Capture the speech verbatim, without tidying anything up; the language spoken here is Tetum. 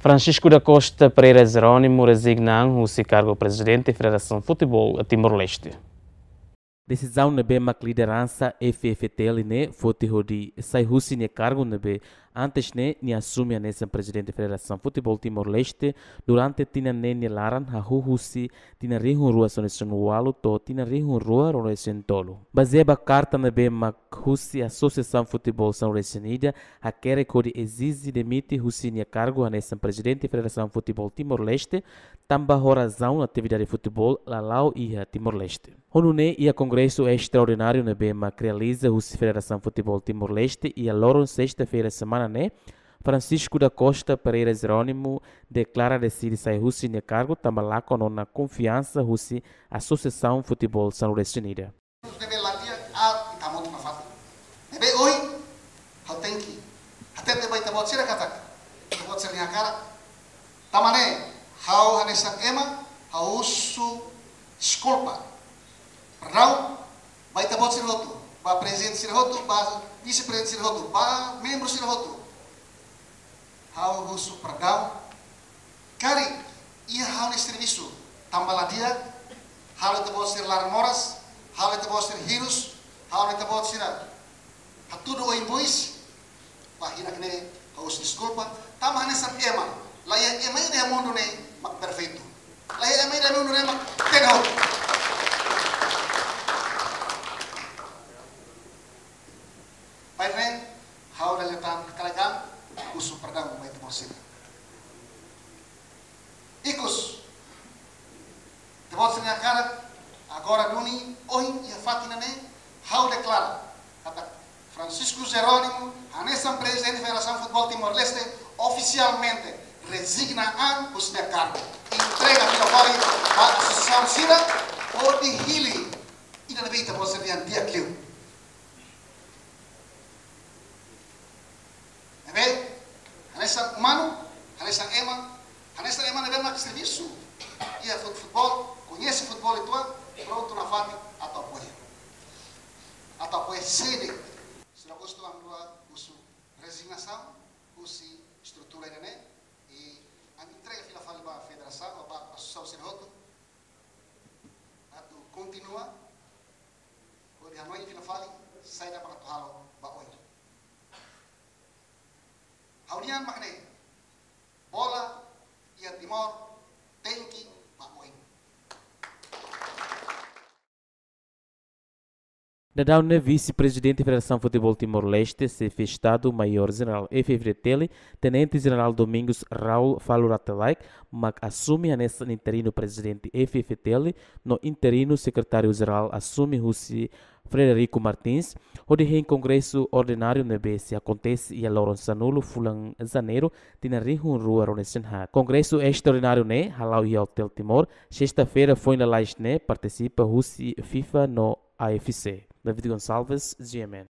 Francisco da Costa Pereira Jerónimo rezigna an husi kargu Prezidente Federasaun Futeból Timor-Leste. Desizaun ne'ebé mak lideransa F F T L ne'e foti hodi sai husi nia kargu ne'ebé antes ne'e nia asume hanesan Prezidente Federasaun Futeból Timor-Leste durante tinan neen nia laran, hahú husi tinan rihun rua sanulu-resin-ualu to'o tinan rihun rua ruanulu-resin-tolu. Bazeia ba karta ne'ebé mak husi Asosiasaun Futeból sanulu-resin-ida hakerek hodi ezije demite husi nia kargu hanesan Prezidente Federasaun Futeból Timor-Leste, tanba ho razaun atividade futeból la la'o iha Timor-Leste. Ho nune'e, iha kongresu estraordináriu ne'ebé mak realiza husi Federasaun Futeból Timor-Leste iha loron sesta-feira semana ne'e, Francisco da Costa Pereira Jerónimo deklara deside sai husi nia kargu tanba lakon ona konfiansa husi Asosiasaun Futeból sanulu-resin-ida. Ne'ebé la di'ak, ah, ita motu nafatin. Ne'ebé ohin, ha'u tenke hatete ba ita-boot sira katak, ita-boot sira-nia hakarak. Tanba ne'e, ha'u hanesan ema, ha'u husu deskulpa, perdaun, ba ita-boot sira hotu, ba prezidente sira hotu, ba vise-prezidente sira hotu, ba membru sira hotu. Ha'u husu perdaun. Karik iha ha'u-nia servisu tanba la di'ak, halo ita-boot sira laran moras, halo ita-boot sira hirus, halo ita-boot sira hatudu oin-bois, ba hirak ne'e ha'u husu deskulpa. Tanba hanesan ema, la iha ema ida iha mundu ne'e mak perfeitu. La iha ema ida iha mundu ne'e mak tenke. Bainhira ne'e, ha'u dala ida tan karik an husu perdaun ba ita-boot sira. Ikus, ita-boot sira-nia hakarak, agora duni, ohin iha fatin ne'e, ha'u deklara katak Francisco Jerónimo hanesan Prezidente Federasaun Futeból Timor-Leste ofisialmente rezigna an husi nia kargu. Entrega fila fali ba asosiasaun sira hodi hili ida ne'ebé ita-boot sira dehan di'ak liu. Ne'ebé, hanesan umanu, hanesan ema, hanesan ema ne'ebé mak servisu iha fut-, futeból, koñese futeból uitoan, prontu nafatin atu apoia. Atu apoia sede. Sira gostu am dua husu rezignasaun husi estrutura ida-ne'e, i ami entrega fila fali ba federasaun, ba asosiasaun sira hotu, atu kontinua hodi hanoin fila fali saida mak atu halo ba oin. Ha'u-nian mak ne'e, bola iha Timor tenke ba oin. Daudaun ne'e Vise-Prezidente Federasaun Futeból Timor-Leste, Xefe Estadu-Maiór Jenerál F F T L, Tenente Jenerál Domingos Raul Falur Rate Laek, mak asume hanesan interinu Prezidente F F T L, no interinu Sekretáriu Jerál asume husi Frederico Martins, hodi hein kongresu ordináriu ne'ebé sei akontese iha loron sanulu fulan Janeiru, tinan rihun rua ruanulu-resin-haat. Kongresu estraordináriu ne'e hala'o iha Hotel Timor, sesta-feira foin lalais ne'e, partisipa husi FIFA no A F C. David Gonçalves, G M N.